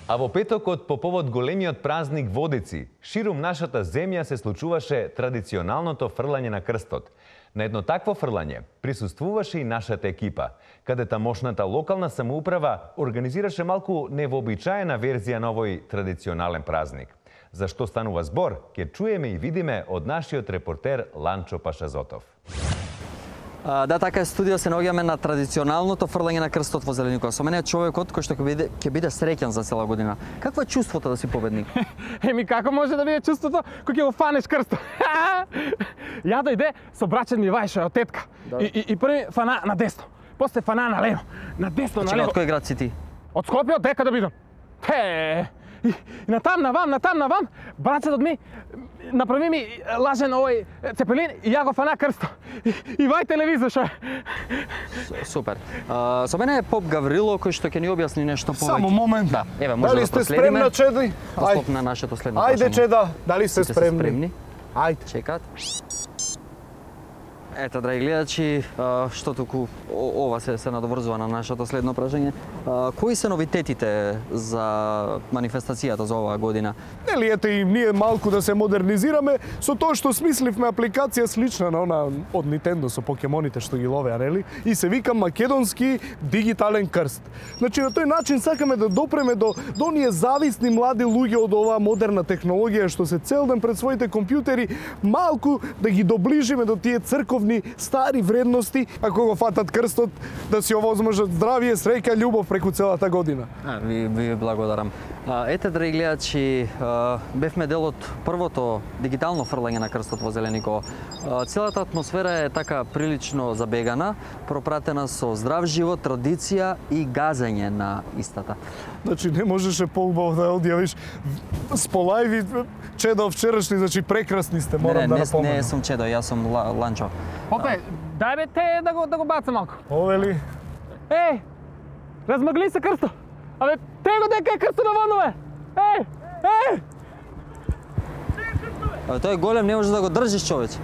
А во петокот, по повод големиот празник Водици, ширум нашата земја се случуваше традиционалното фрлање на крстот. На едно такво фрлање присуствуваше и нашата екипа, каде тамошната локална самоуправа организираше малку невообичаена верзија на овој традиционален празник. За што станува збор, ќе чуеме и видиме од нашиот репортер Ланчо Пашазотов. Да, така е, студио се наоѓаме на традиционалното фрлање на крстот во Зеленикова. Со мене е човекот кој што ќе биде среќен за цела година. Какво е чувството да си победник? Еми како може да биде чувството кога ќе го фанеш крстот? Ја дојде со брачен ми Вајшо од тетка. И први фана на десно, после фана на лево, на десно на лево. Од кој град си ти? Од Скопје, од дека да бидам. И натам навам, брачетот ми направи ми лажен овој цепелин и ја го фана крстот. И вај телевизор што е. Супер. Со мене е Поп Гаврило кој што ќе ни објасни нешто повеќе. Само момент. Да, еве може дали да сте проследиме. спремна, Чеди? Послов на нашето следно Ајде, прашање. Чеда, дали сте Сите спремни? Ајде. Чекат. Ето, драги гледачи, што туку ова се надоврзува на нашето следно прашање. Кои се новитетите за манифестацијата за оваа година? Нели ете и ние малку да се модернизираме со тоа што смисливме апликација слична на она од Nintendo со покемоните што ги ловеа, нели? И се вика македонски дигитален крст. Значи на тој начин сакаме да допреме до оние зависни млади луѓе од оваа модерна технологија што се цел ден пред своите компјутери, малку да ги доближиме до тие црковни стари вредности, ако го фатат крстот, да си овозможат здравие, среќа, љубов преку целата година. Ви благодарам. Ете, драги гледачи, бевме дел од првото дигитално фрлање на крстот во Зеленикова. Целата атмосфера е така прилично забегана, пропратена со здрав живот, традиција и газење на истата. Значи не можеше поубаво да одјавиш сполајви, Чедо вчерашни, значи прекрасни сте, морам да напоменам. Не сум Чедо, јас сум Ланчо. Опе, дај бе те да го баца малку. Овели? Размагли се крстот. Абе, те го дека е крстот наваму, бе. Тој е голем, не можеш да го држиш, човече.